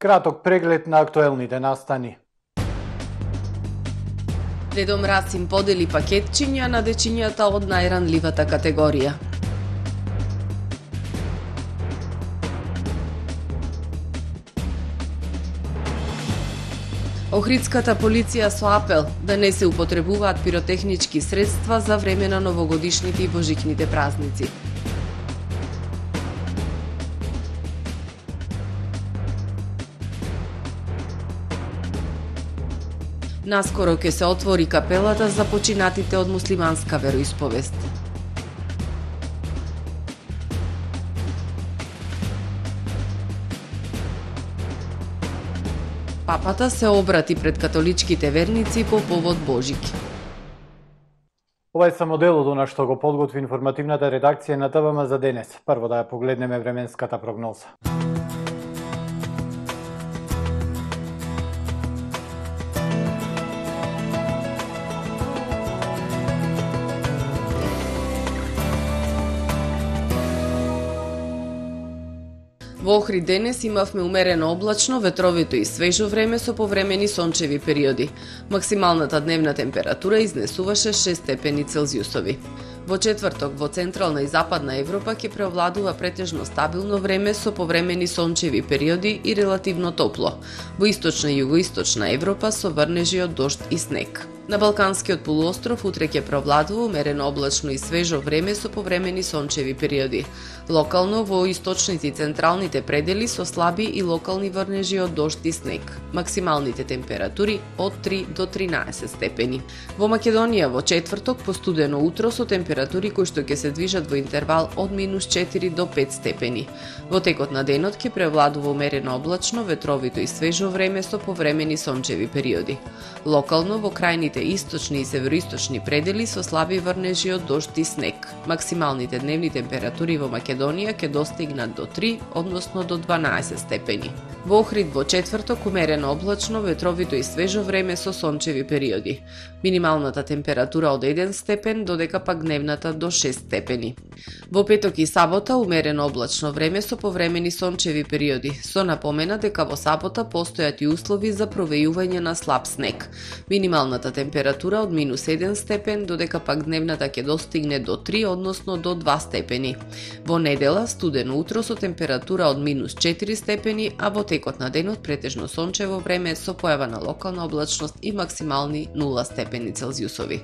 Краток преглед на актуелните настани. Дедо Мраз им подели пакетчиња на дечињата од најранливата категорија. Охридската полиција со апел да не се употребуваат пиротехнички средства за време на новогодишните и божикните празници. Наскоро ќе се отвори капелата за починатите од муслиманска вероисповест. Папата се обрати пред католичките верници по повод Божик. Ова е само дел од она што го подготви информативната редакција на ТВМ за денес. Прво да ја погледнеме временската прогноза. Во Охрид денес имавме умерено облачно, ветровито и свежо време со повремени сончеви периоди. Максималната дневна температура изнесуваше 6 степени Целзиусови. Во четврток во Централна и Западна Европа ќе преовладува претежно стабилно време со повремени сончеви периоди и релативно топло. Во Источна и Југоисточна Европа со врнежи од дожд и снег. На Балканскиот полуостров утре ќе преовладува умерено облачно и свежо време со повремени сончеви периоди. Локално во источните и централните предели со слаби и локални врнежи од дожд и снег. Максималните температури од 3 до 13 степени. Во Македонија во четврток постудено утро со температури кои што ќе се движат во интервал од -4 до 5 степени. Во текот на денот ќе преовладува умерено облачно, ветровито и свежо време со повремени сончеви периоди. Локално во крајните источни и североисточни предели со слаби врнежи од дожд и снег. Максималните дневни температури во Македонија ќе достигнат до 3, односно до 12 степени. Во Охрид во четврток умерено облачно, ветровито и свежо време со сончеви периоди. Минималната температура од 1 степен, додека пак дневната до 6 степени. Во петок и сабота умерено облачно време со повремени сончеви периоди, со напомена дека во сабота постојат и услови за провејување на слаб снег. Минималната температура од -1 степен, додека пак дневната ќе достигне до 3, односно до 2 степени. Во недела студено утро со температура од -4 степени, а во текот на денот претежно сончево време со појава на локална облачност и максимални 0 степени Целзиусови.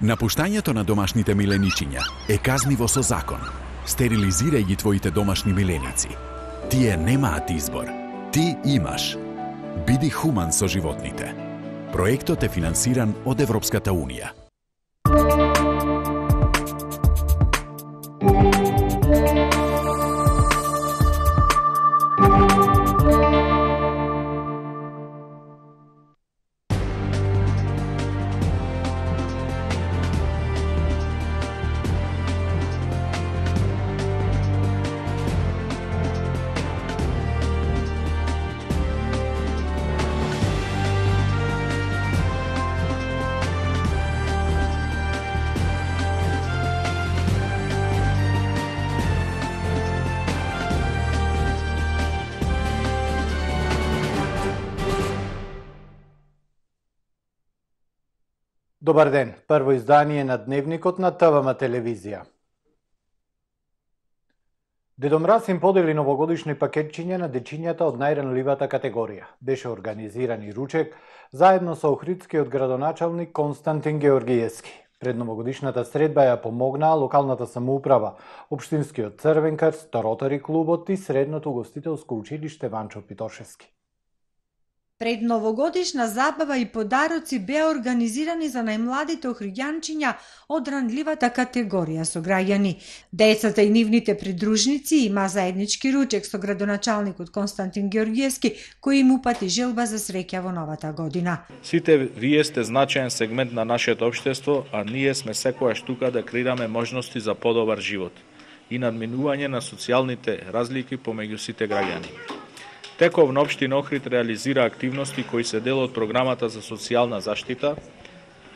Напуштањето на домашните миленичиња е казниво со закон. Стерилизирај ги твоите домашни миленици. Тие немаат избор. Ти имаш. Биди хуман со животните. Проектот е финансиран од Европската Унија. Добар ден, прво издание на Дневникот на ТВМ телевизија. Дедо Мраз им подели новогодишни пакетчиња на дечињата од најранливата категорија. Беше организиран и ручек заедно со охридскиот градоначалник Константин Георгиевски. Пред новогодишната средба ја помогнаа локалната самоуправа, Општинскиот Црвен крст, Ротари клубот и Средното угостителско училиште Ванчо Питошевски. Предновогодишна забава и подароци беа организирани за најмладите охриѓанчиња од ранливата категорија со граѓани. Децата и нивните придружници има заеднички ручек со градоначалникот Константин Георгиевски, кој им упати желба за среќа во новата година. Сите вие сте значаен сегмент на нашето општество, а ние сме секојаш тука да креираме можности за подобар живот и надминување на социјалните разлики помеѓу сите граѓани. Теков на општина Охрид реализира активности кои се дел од програмата за социјална заштита,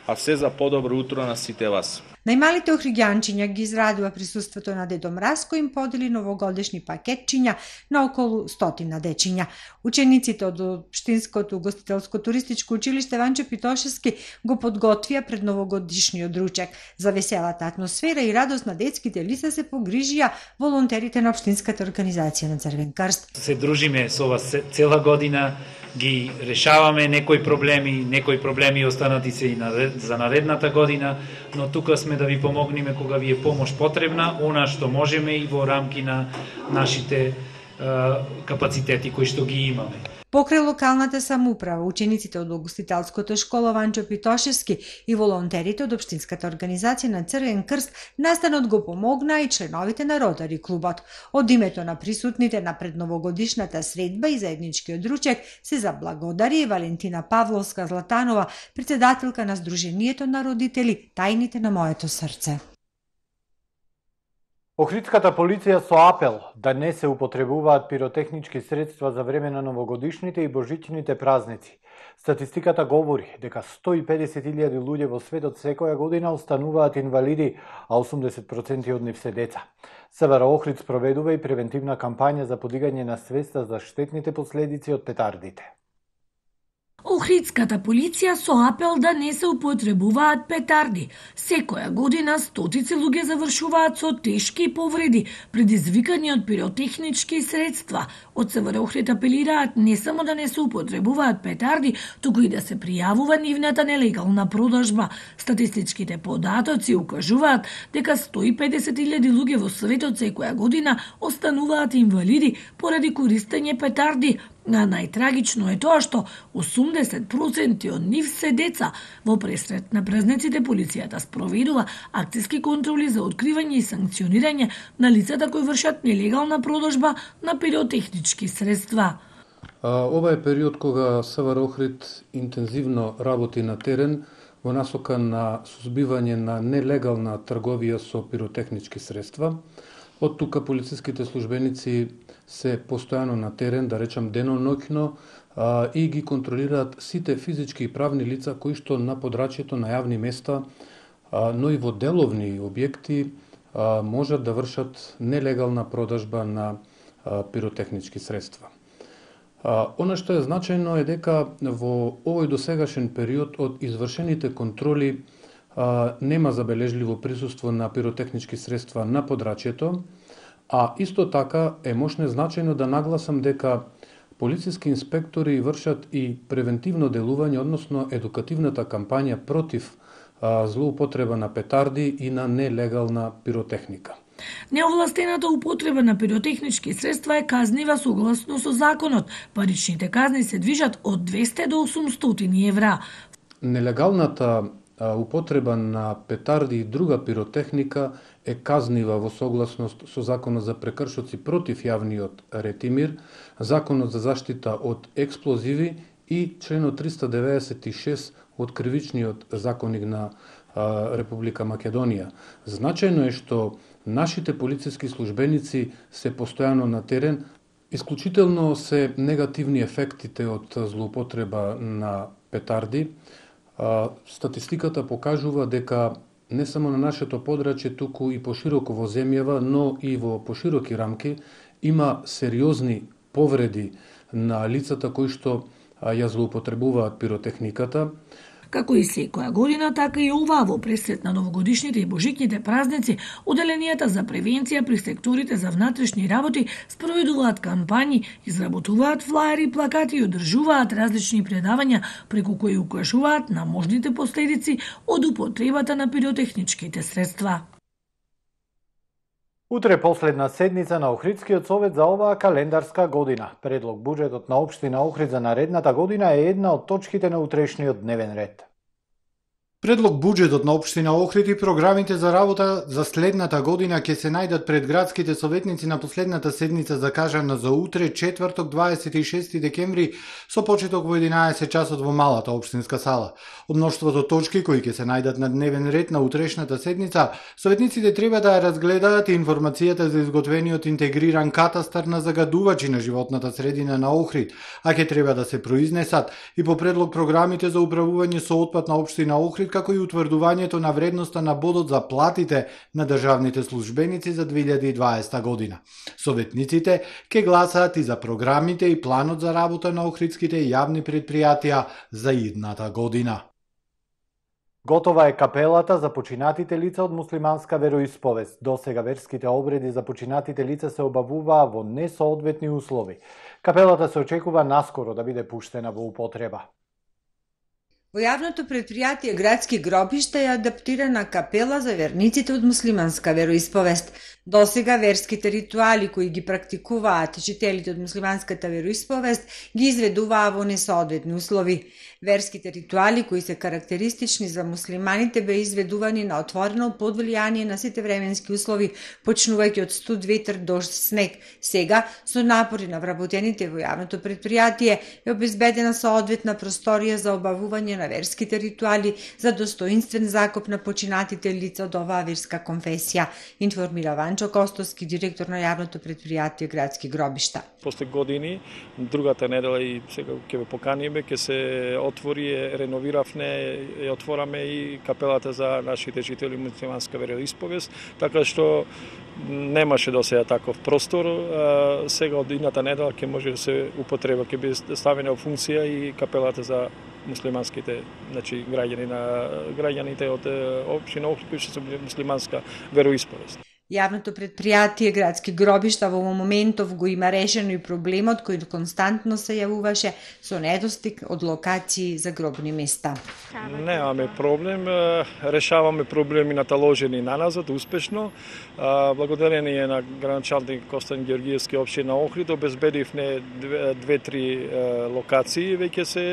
а се за подобро утро на сите вас. Најмалите охриѓанчиња ги израдува присуството на Дедо Мраз, кој им подели новогодишни пакетчиња на околу 100 дечиња. Учениците од Општинското угостителско-туристичко училиште Ванчо Питошевски го подготвија пред новогодишниот ручек. За веселата атмосфера и радост на детските лица се погрижија волонтерите на Општинската организација на Црвен крст. Се дружиме со вас цела година, ги решаваме некои проблеми останати се и за наредната година, но тука сме да ви помогнеме кога ви е помош потребна, она што можеме и во рамки на нашите капацитети кои што ги имаме. Покрај локалната самоуправа, учениците од угостителското школа Ванчо Питошевски и волонтерите од Општинската организација на Црвен крст настанот го помогнаа и членовите на Ротари клубот. Од името на присутните на предновогодишната средба и заедничкиот ручек се заблагодари Валентина Павловска Златанова, председателка на Сдруженијето на родители Тајните на моето срце. Охридската полиција со апел да не се употребуваат пиротехнички средства за време на новогодишните и божичните празници. Статистиката говори дека 150.000 луѓе во светот секоја година остануваат инвалиди, а 80% од нив се деца. СВР Охрид спроведува и превентивна кампања за подигање на свеста за штетните последици од петардите. Охридската полиција со апел да не се употребуваат петарди. Секоја година стотици луѓе завршуваат со тешки повреди, предизвикани од пиротехнички средства. Од СВР Охрид апелираат не само да не се употребуваат петарди, туку и да се пријавува нивната нелегална продажба. Статистичките податоци укажуваат дека 150.000 луѓе во светот секоја година остануваат инвалиди поради користење петарди. А најтрагично е тоа што 80% од нив се деца. Во пресрет на празниците полицијата спроведува акциски контроли за откривање и санкционирање на лицата кои вршат нелегална продажба на пиротехнички средства. Ова е период кога СВР Охрид интензивно работи на терен во насока на сузбивање на нелегална трговија со пиротехнички средства. Од тука полициските службеници се постојано на терен, да речам деноноќно, и ги контролираат сите физички и правни лица кои што на подрачјето на јавни места, но и во деловни објекти можат да вршат нелегална продажба на пиротехнички средства. Она што е значајно е дека во овој досегашен период од извршените контроли нема забележливо присуство на пиротехнички средства на подрачјето, а исто така е можно значајно да нагласам дека полициски инспектори вршат и превентивно делување, односно едукативната кампања против злоупотреба на петарди и на нелегална пиротехника. Неовластената употреба на пиротехнички средства е казнива согласно со законот. Паричните казни се движат од 200 до 800 евра. Нелегалната употреба на петарди и друга пиротехника е казнива во согласност со Законот за прекршоци против јавниот ред и мир, Законот за заштита од експлозиви и членот 396 од Кривичниот законник на Република Македонија. Значајно е што нашите полициски службеници се постојано на терен. Исклучително се негативни ефектите од злоупотреба на петарди. Статистиката покажува дека не само на нашето подрачје, туку и пошироко во земјава, но и во пошироки рамки, има сериозни повреди на лицата кои што ја злоупотребуваат пиротехниката. Како и секоја година, така и ова во пресрет на новогодишните и божичните празници, оделенијата за превенција при секторите за внатрешни работи спроведуваат кампањи, изработуваат флаери, плакати и одржуваат различни предавања преку кои укажуваат на можните последици од употребата на пиротехничките средства. Утре последна седница на Охридскиот совет за оваа календарска година. Предлог буџетот на општина Охрид за наредната година е една од точките на утрешниот дневен ред. Предлог буџетот на општина Охрид и програмите за работа за следната година ќе се најдат пред градските советници на последната седница закажана за утре, четврток 26 декември, со почеток во 11 часот во малата општинска сала. Од мноштвото точки кои ќе се најдат на дневен ред на утрешната седница, советниците треба да ја разгледаат и информацијата за изготвениот интегриран катастар на загадувачи на животната средина на Охрид, а ќе треба да се произнесат и по предлог програмите за управување со отпад на општина Охрид, како и утврдувањето на вредноста на бодот за платите на државните службеници за 2020 година. Советниците ќе гласаат и за програмите и планот за работа на охридските јавни предпријатија за идната година. Готова е капелата за починатите лица од муслиманска вероисповест. Досега верските обреди за починатите лица се обавуваа во несоодветни услови. Капелата се очекува наскоро да биде пуштена во употреба. Во јавното предпријатие Градски гробишта е адаптирана капела за верниците од муслиманска вероисповест. Досега верските ритуали кои ги практикуваат жителите од муслиманската вероисповест ги изведуваа во несоодветни услови. Верските ритуали кои се карактеристични за муслиманите беа изведувани на отворено под влијание на сите временски услови, почнувајќи од студ, ветер, дожд, снег. Сега, со напори на вработените во јавното предпријатие, е обезбедена соодветна просторија за обавување на верските ритуали за достоинствен закоп на починатите лица од оваа верска конфесија, информира Ванчо Костоски, директор на јавното предпријатие Градски гробишта. После години, другата недела и сега ќе ве поканиме, ќе се отвори, реновиравме и отвораме и капелата за нашите жители муслиманска вероисповест, така што немаше до сега таков простор. Сега од идната недела ќе може да се употреба, ќе биде ставена во функција и капелата за муслиманските, значи граѓаните од општина Охрид кои се муслиманска вероисповест. Јавното предпријатие Градски гробишта во моментов го има решено и проблемот кој константно се јавуваше со недостиг од локации за гробни места. Немаме проблем, решаваме проблеми наталожени на назад успешно. Благодарение на градоначалник Костан Георгиевски општина Охрид обезбедивме 2-3 локации веќе се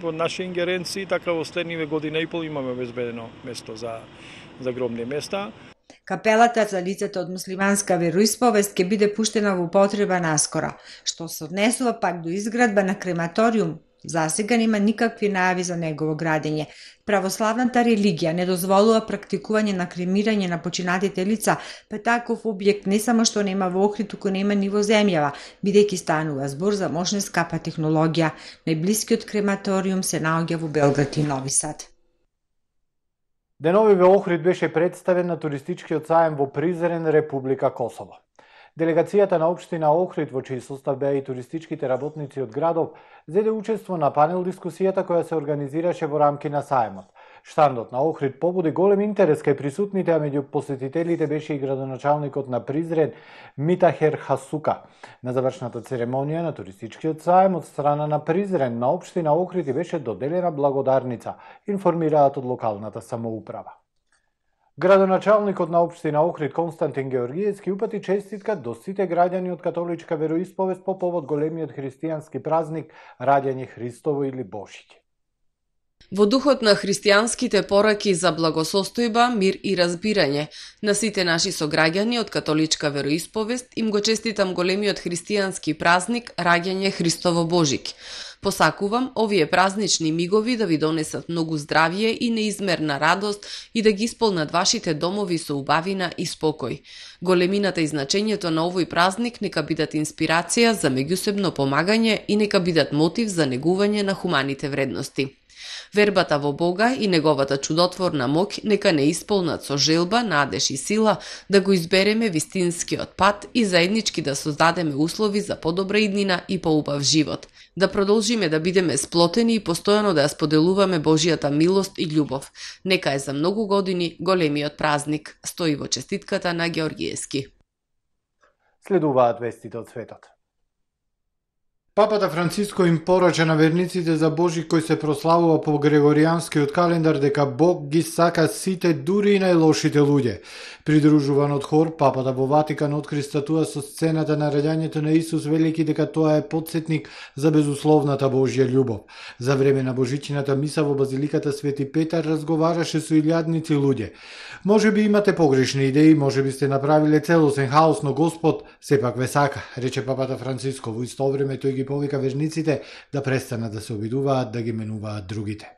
во наши ингеренции, така во следниве година и пол имаме обезбедено место за гробни места. Капелата за лицата од муслиманска вероисповест ќе биде пуштена во употреба наскоро, што се однесува пак до изградба на крематориум. Засега нема никакви најави за негово градење. Православната религија не дозволува практикување на кремирање на починатите лица, па таков објект не само што нема во Охрид, туку нема ни во земјава, бидејќи станува збор за мощна скапа технологија. Најблискиот крематориум се наоѓа во Белград и Нови Сад. Денови во Охрид беше представен на туристичкиот саем во Призрен, Република Косово. Делегацијата на општина Охрид, во чиј состав беа и туристичките работници од градов, зеде учество на панел дискусијата која се организираше во рамки на саемот. Штандот на Охрид побуди голем интерес кај присутните, а меѓу посетителите беше и градоначалникот на Призрен Митахер Хасука. На завршната церемонија на туристичкиот саем од страна на Призрен на општина Охрид беше доделена благодарница, информираат од локалната самоуправа. Градоначалникот на општина Охрид Константин Георгиевски упати честитка до сите граѓани од католичка вероисповест по повод големиот христијански празник Раѓање Христово или Божиње. Во духот на христијанските пораки за благосостојба, мир и разбирање, на сите наши сограѓани од католичка вероисповест им го честитам големиот христијански празник Раѓање Христово Божик. Посакувам овие празнични мигови да ви донесат многу здравје и неизмерна радост и да ги исполнат вашите домови со убавина и спокој. Големината и значењето на овој празник нека бидат инспирација за меѓусебно помагање и нека бидат мотив за негување на хуманите вредности. Вербата во Бога и неговата чудотворна моќ нека не исполнат со желба, надеж и сила да го избереме вистинскиот пат и заеднички да создадеме услови за подобра иднина и поубав живот. Да продолжиме да бидеме сплотени и постојано да ја споделуваме Божијата милост и љубов. Нека е за многу години големиот празник, стои во честитката на Георгиевски. Следуваат вестите од светот. Папата Франциско им порача на верниците за Божи кој се прославува по Грегоријанскиот календар дека Бог ги сака сите, дури и најлошите луѓе. Придружуван од хор, папата во Ватикан откри статуа со сцената на раѓањето на Исус, велики дека тоа е потсетник за безусловната Божја љубов. За време на Божичината миса во базиликата Свети Петар разговараше со илјадници луѓе. Може би имате погрешни идеи, може би сте направиле целосен хаос, но Господ сепак ве сака, рече папата Франциско. Во исто време тој ги повика верниците да престанат да се обидуваат да ги менуваат другите.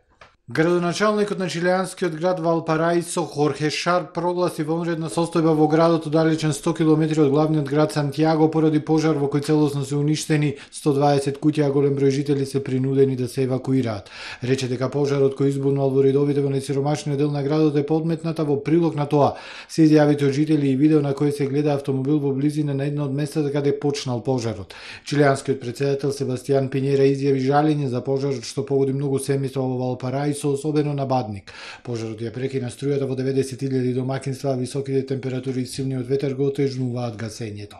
Градоначалникот на чилеанскиот град Валпараисо Хорхе Шар прогласи вонредна состојба во градот оддалечен 100 км од главниот град Сантјаго поради пожар во кој целосно се уништени 120 куќи, а голем број жители се принудени да се евакуираат. Рече дека пожарот кој избунал во редовите во најсиромашниот дел на градот е подметната. Во прилог на тоа се изјавите од жители и видео на кој се гледа автомобил во близина на едно од местата каде почнал пожарот. Чилеанскиот председател Себастијан Пинјера изјави жалење за пожарот што погоди многу семејства во Валпараисо, особено на Бадник. Пожарот ја прекина струјата во 90.000 домакинства, а високите температури и силниот ветер го отежнуваат гасењето.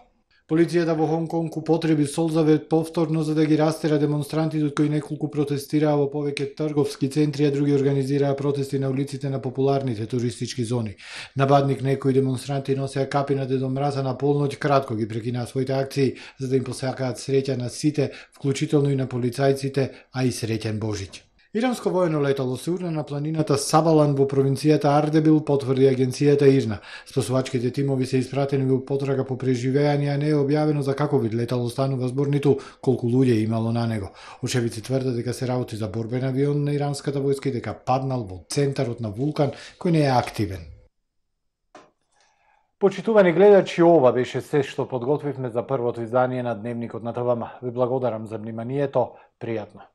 Полицијата во Хонг Конг употреби солзавет повторно за да ги растера демонстрантите, од кои неколку протестираа во повеќе трговски центри, а други организираа протести на улиците на популарните туристички зони. На Бадник некои демонстранти носеа капи на Дедо Мраза на полноќ, кратко ги прекинаа своите акции за да им посакаат среќа на сите, вклучително и на полицајците, а и среќен Божиќ. Иранско воено летало се урна на планината Сабалан во провинцијата Ардебил, потврди агенцијата ИРНА. Спасувачките тимови се испратени во потрага по преживеање, а не е објавено за каков вид летало станува збор, ниту колку луѓе имало на него. Очевици тврдат дека се работи за борбен авион на иранската војска и дека паднал во центарот на вулкан кој не е активен. Почитувани гледачи, ова беше се што подготвивме за првото издание на Дневникот на ТВМ. Ви благодарам за вниманието, пријатно.